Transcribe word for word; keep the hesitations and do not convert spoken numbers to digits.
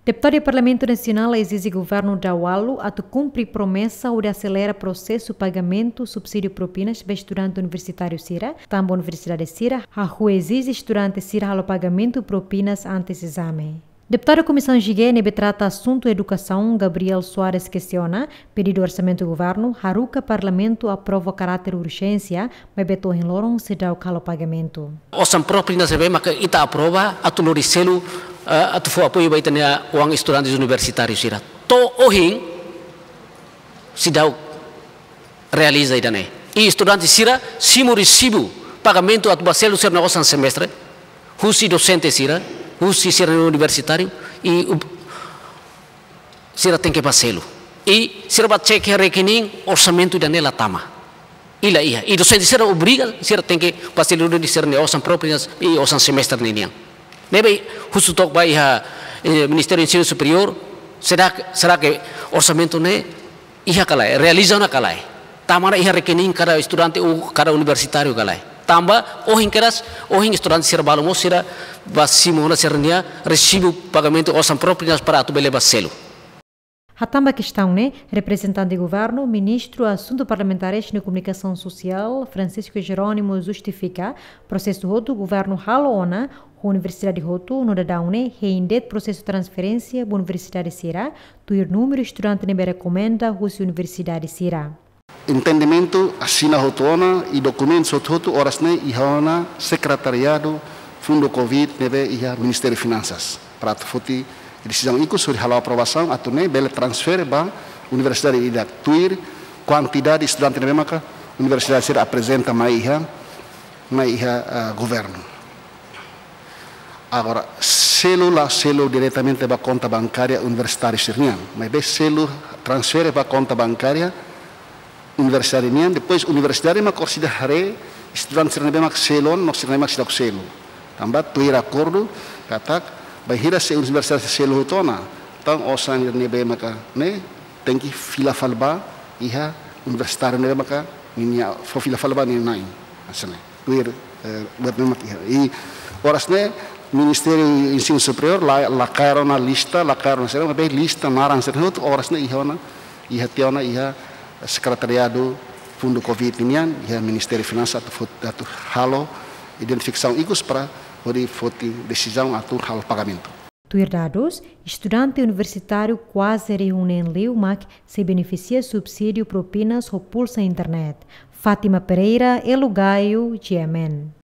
Deputadu Parlamentu Nasionál ezije governu daualu atu kumpre promesa hodi aselera prosesu pagamentu subsídiu propinas ba estudante universitáriu sira, tanba universidade sira hahú ezije estudante sira halo pagamentu propinas antes ezame. Deputadu Komisaun G ne'ebé trata asuntu edukasaun, Gabriel Soares, kestiona pedidu orsamentu governu haruka Parlamentu aprova karáter urjénsia, maibé to'o ohin loron seidauk halo pagamentu. Osan propinas ne'ebé maka ita aprova atu lori selu, eh, atu fó apoiu ba ita-nia oan estudante universitáriu sira. To'o ohin seidauk realiza ida-ne'e. I estudante sira simu resibu pagamentu atu ba selu sira-nia osan semestre, husi dosente sira, husi sira universitáriu, i ub-, sira tenke ba selu. I sira ba cek iha rekening, orsamentu ida-ne'e la tama. I la iha. I dosente sira obriga, sira tenke ba selu duni sira-nia osan propinas i osan semestre ninian. Ne'ebé husu took ba iha, eh, Ministériu Ensinu Superiór, será, será ke orsamentu ne'e iha ka lae, realiza ona ka lae? Tama ona iha rekening kada estudante ou kada universitáriu ka lae? Tanba ohin kedas, ohin estudante sira balu mós sira ba simu ona sira-nia resibu pagamentu osan propinas para atu bele ba selu. Hatán ba kestaun ne'e, reprezentante governu, Ministru Asuntu Parlamentares no Komunikasaun Sosiál, Francisco Jerónimo, justifika prosesu hotu governu halo ona ho universidade hotu, no daudaun ne'e hein de'it prosesu transferénsia ba universidade sira, tuir númeru estudante ne'ebé rekomenda husi universidade sira. Entendimentu asina hotu ona i dokumentus hotu-hotu oras ne'e iha ona Sekretariadu Fundu Covid ne'ebé iha Ministériu Finansas. Para atu foti desizaun ikus hodi halo aprovasaun atu nune'e bele transfere ba universidade ida tuir kuantidade estudante ne'ebé maka universidade sira aprezenta mai iha, mai iha, ah, governu. Agora, selu la selu diretamente ba konta bankária universitáriu sira-nian, maibé selu transfere ba konta bankária universidade nian, depois universidade mak orsida haree estudante sira ne'ebé mak selu ona no sira ne'ebé mak seidauk selu. Tanba tuir akordu katak bainhira se universidade selu hotu ona, entaun osan ne'ebé maka ne'e tenke fila fali ba iha universitáriu ne'ebé maka ninia, fó fila fali ba ninia na'in. Hanesan ne'e. Tuir, eh, buat ne'ebé mak iha. I oras ne'e Ministériu Ensinu Superiór la, la kaer ona lista, la kaer ona sira, maibé lista naran sira hotu oras ne'e iha ona, iha tiha ona iha Sekretariadu Fundu Covid nian, iha Ministériu Finansas atu fot-, atu halo identifikasaun ikus para hodi foti desizaun atu halo pagamentu. Tuir dadus, estudante universitáriu kuaze rihun neen liu mak sei benefisia subsídiu propinas ho pulsa internet. Fátima Pereira, Elo Gaio, G M N.